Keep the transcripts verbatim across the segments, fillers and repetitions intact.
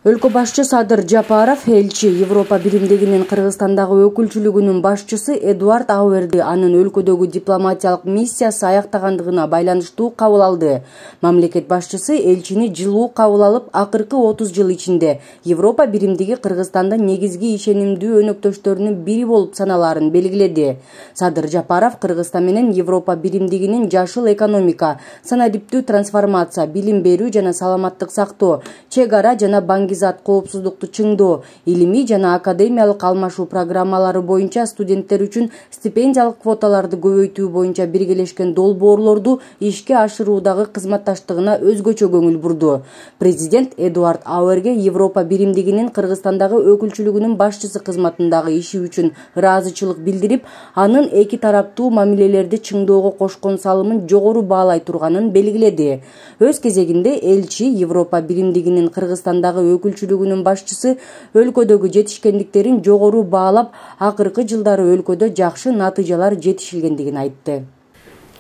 Өлкө башчы Садыр Жапаров элчи Европа биримдигинин Кыргызстандагы өкүлчүлүгүнүн башчысы Эдуард Ауэрди анын өлкөдөгү дипломатиялык миссиясы аяктагандыгына байланыштуу кабыл алды. Мамлекет башчысы элчини жылуу кабыл алып, акыркы отуз жыл ичинде Европа биримдиги Кыргызстанда негизги ишенимдүү өнөктөштөрүнүн бири болуп саналаарын белгиледи. Садыр Жапаров Кыргызстан менен Европа биримдигинин жашыл экономика, санариптүү трансформация, билим берүү жана саламаттык сактоо, чек ара жана банги зат коопсуздукту чыңдоо, илимий жана академиялык алмашуу программалары боюнча студенттер үчүн стипендиялык квоталарды көбөйтүү боюнча биргелешкен долбоорлорду ишке ашыруудагы кызматташтыгына өзгөчө көңүл бурду. Президент Эдуард Ауэрге Европа биримдигинин Кыргызстандагы өкүлчүлүгүнүн башчысы кызматындагы иши үчүн ыраазычылык билдирип, анын эки тараптуу мамилелерди чыңдоого кошкон салымын жогору баалай турганын белгиледи. Өз кезегинде элчи Европа биримдигинин Кыргызстандагы өкүлчүлүгүнүн башчысы өлкөдөгү жетишкендиктерин жогору баалап, акыркы жылдары өлкөдө жакшы натыйжалар жетишилгендигин айтты.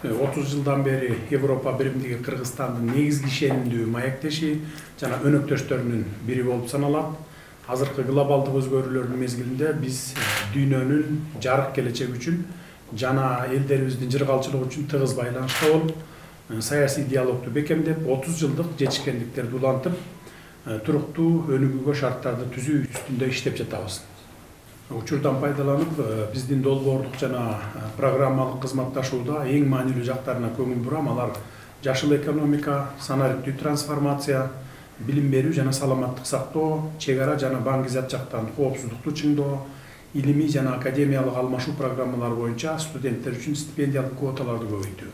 отуз жылдан бери Европа биримдиги Кыргызстандын негизги ишенимдүү маектеши жана өнөктөштөрүнүн бири болуп саналат. Азыркы глобалдык өзгөрүүлөрдүн мезгилинде биз дүйнөнүн жарык келечеги үчүн жана элдерибиздин жыргалчылыгы үчүн тыгыз байланышта болуп, саясий диалогду бекемдеп, отуз жылдык жетишкендиктерди улантып, туруктуу өнүгүүгө шарттарды түзүү үстүндө иштеп жатабыз. Учурдан пайдаланып, биздин долбоорлук жана программалык кызматташууда эң маанилүү жактарына көңүл бурам. Алар жашыл экономика, санариптүү трансформация, билим берүү жана саламаттык сактоо, чек ара жана банги зат жактан коопсуздукту чыңдоо, илимий жана академиялык алмашуу программалары боюнча студенттер үчүн стипендиялык квоталарды көбөйтүү.